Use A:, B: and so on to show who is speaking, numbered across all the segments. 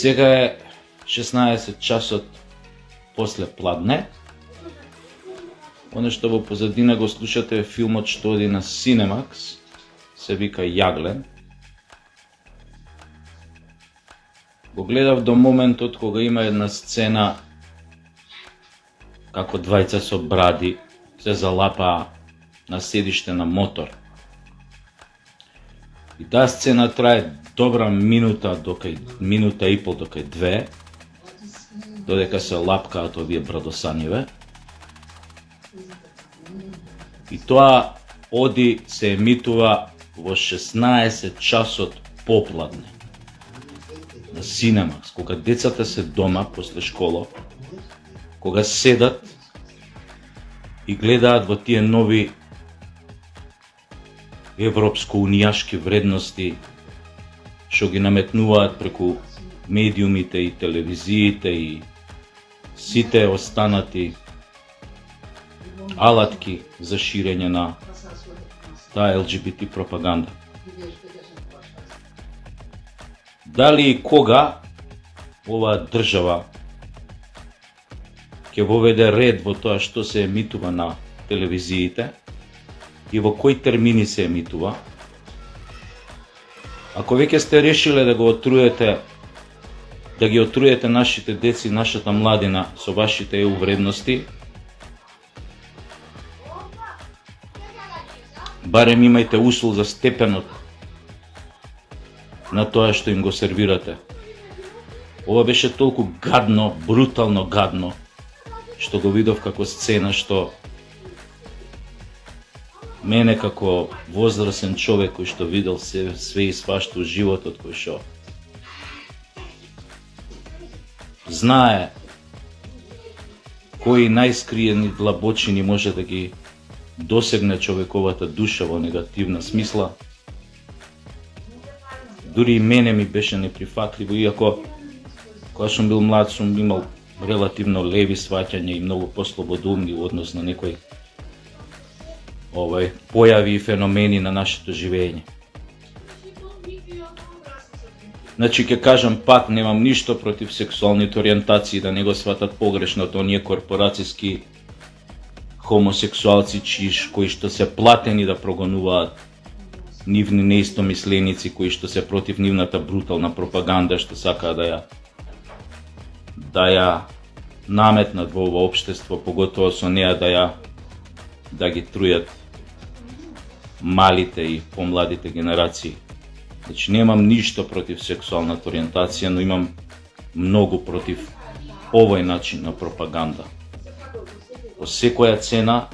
A: Сега е 16 часот после пладне. Оно што во позадина го слушате е филмот што оди на Cinemax, се вика Јаглен. Го гледав до моментот кога има една сцена како двајца со бради се залапаа на седиште на мотор. И таа сцена трае добра минута и пол до кај 2, додека се лапкаат овие брадосаниве. И тоа оди се емитува во 16 часот попладне на Cinemax, кога децата се дома после школа, кога седат и гледаат во тие нови европско-унијашки вредности што ги наметнуваат преку медиумите и телевизиите и сите останати алатки за ширење на таа ЛГБТ пропаганда. Дали и кога оваа држава ќе воведе ред во тоа што се емитува на телевизиите и во кои термини се емитува? Ако веќе сте решиле да го отруете, да ги отруете нашите деци, нашата младина со вашите EU вредности, барем имајте усул за степенот на тоа што им го сервирате. Ова беше толку гадно, брутално гадно, што го видов како сцена, што мене како возрасен човек кој што видел све и свашто во животот, кој што знае кои најскриени длабочини може да ги досегне човековата душа во негативна смисла. Дури и мене ми беше неприфатливо, иако кога сум бил млад сум имал релативно леви сваќања и многу послободумни во однос на некои појави и феномени на нашето живење. Значи, ќе кажам пак, немам ништо против сексуалните ориентации, да не го сватат погрешно оние корпорацијски хомосексуалци кои што се платени да прогонуваат нивни неистомисленици, кои што се против нивната брутална пропаганда, што сакаат да ја наметнат во ова општество, поготово со неа да ги трујат малите и помладите генерации. Значи, немам ништо против сексуалната ориентација, но имам многу против овој начин на пропаганда. По секоја цена,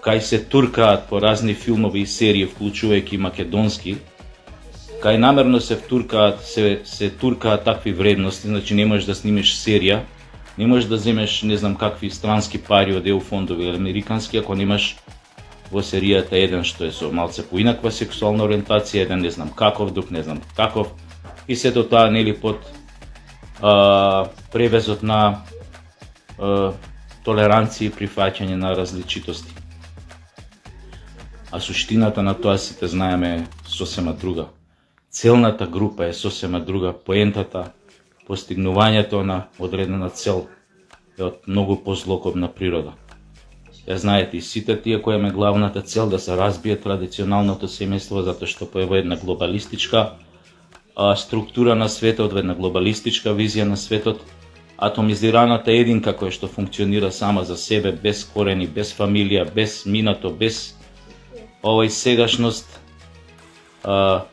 A: кај се туркаат по разни филмови и серии, вклучувајќи македонски, кај намерно се туркаат такви вредности, значи не можеш да снимеш серија, не можеш да земеш не знам какви странски пари од EU фондови или американски, ако немаш во серијата еден што е со малце поинаква сексуална ориентација, еден не знам каков, друг не знам каков, и сето тоа нели под превезот на толеранција и прифаќање на различитости. А суштината на тоа сите знаеме е сосема друга. Целната група е сосема друга, поентата, постигнувањето на одредена цел е од многу позлокобна природа. Ја знаете и сите тие која ме главната цел да се разбие традиционалното семејство, затоа што поева една глобалистичка структура на светот, една глобалистичка визија на светот, атомизираната единка која што функционира сама за себе, без корени, без фамилија, без минато, без овој сегашност,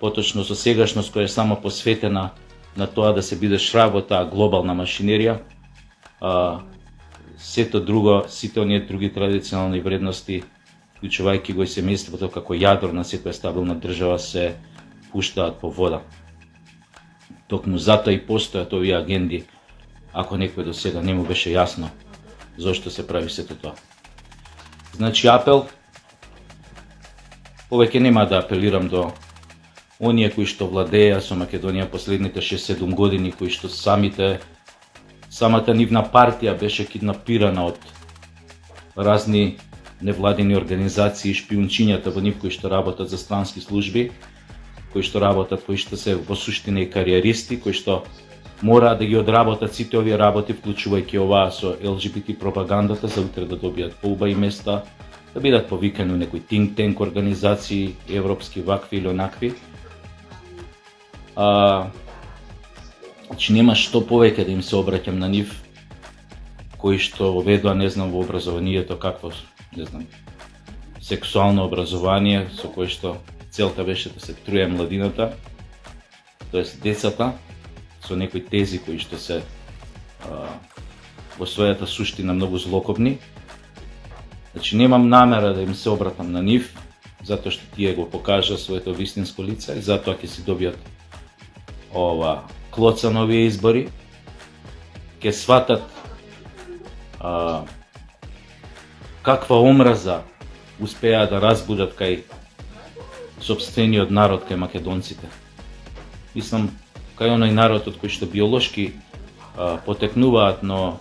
A: поточно со сегашност која е само посветена на тоа да се биде шраб во таа глобална машинерија, сето друго, сите оние други традиционални вредности, вклучувајќи го и семејството како јадро на секоја стабилна држава, се пуштаат по вода. Токму затоа и постојат овие агенди, ако некој до сега не му беше јасно. зошто се прави сето тоа. Значи апел, повеќе нема да апелирам до оние кои што владеја со Македонија последните 6-7 години, кои што самата нивна партија беше киднапирана од разни невладини организации и шпиунчињата во нив кои што работат за странски служби, кои што се во суштина и кариеристи, кои што мора да ги одработат сите овие работи, вклучувајќи оваа со ЛГБТ пропагандата, за утре да добијат поубави места, да бидат повикани у некои think tank организации, европски, вакви или онакви. Значи нема што повеќе да им се обраќам на нив, кои што воведува, не знам, во образованието какво, не знам, сексуално образование, со кое што целта беше да се труе младината, тоест децата, со некои тези кои што се во својата суштина многу злокобни. Значи немам намера да им се обратам на нив, затоа што тие го покажа своето вистинско лице и затоа ќе си добијат ова клоца на овие избори, ќе сватат каква омраза успеа да разбудат кај сопствениот народ, кај македонците. Мислам, кај оној народ од кој што биолошки потекнуваат, но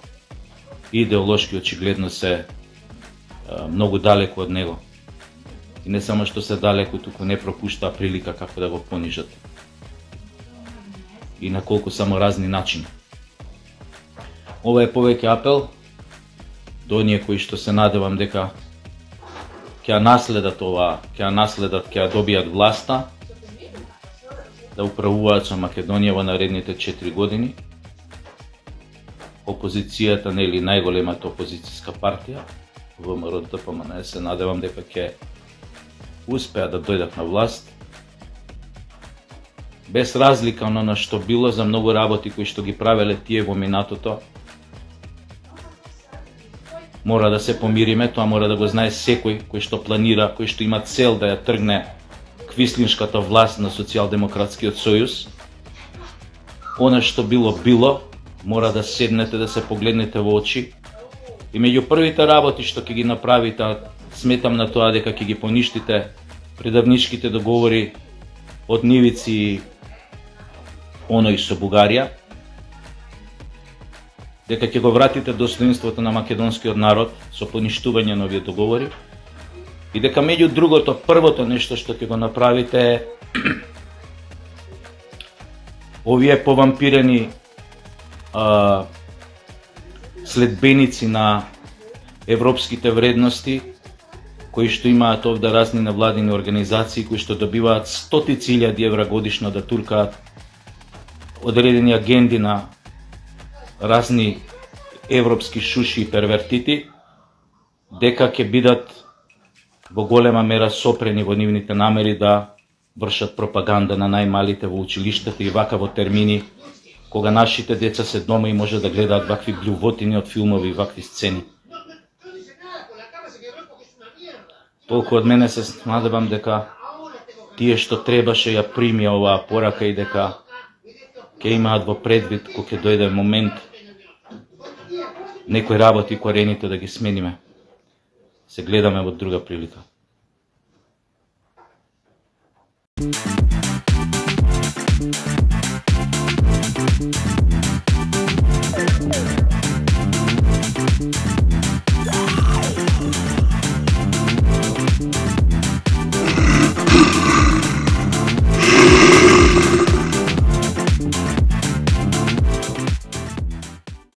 A: идеолошки очигледно се многу далеку од него. И не само што се далеку, туку не пропуштаа прилика како да го понижат. И на колку само разни начини. Ова е повеќе апел до оние кои што се надевам дека ќе наследат ова, ќе добијат власта, да управуваат со Македонија во наредните 4 години. Опозицијата, нели најголемата опозицијска партија, ВМРО-ДПМН, се надевам дека ќе успеат да дојдат на власт. Без разлика на што било за многу работи кои што ги правеле тие во минатото, мора да се помириме, тоа мора да го знае секој кој што планира, кој што има цел да ја тргне квислиншката власт на Социјалдемократскиот сојуз. Она што било, мора да седнете, да се погледнете во очи. И меѓу првите работи што ќе ги направите, сметам на тоа дека ќе ги поништите предавничките договори од нивици оној со Бугарија, дека ќе го вратите достоинството на македонскиот народ со поништување на овие договори, и дека меѓу другото, првото нешто што ќе го направите е овие повампирени следбеници на европските вредности, кои што имаат овде разни невладини организации, кои што добиваат стотици илјади евра годишно да туркаат одредени агенди на разни европски шуши и первертити, дека ќе бидат во голема мера сопрени во нивните намери да вршат пропаганда на најмалите во училиштата и вака во термини, кога нашите деца се дома и може да гледаат вакви блювотини од филмови и вакви сцени. Толку од мене, се надевам дека тие што требаше ја примија оваа порака и дека ќе имаат во предвид кога ќе дојде момент некои работи корените да ги смениме. Се гледаме во друга прилика. Thank you.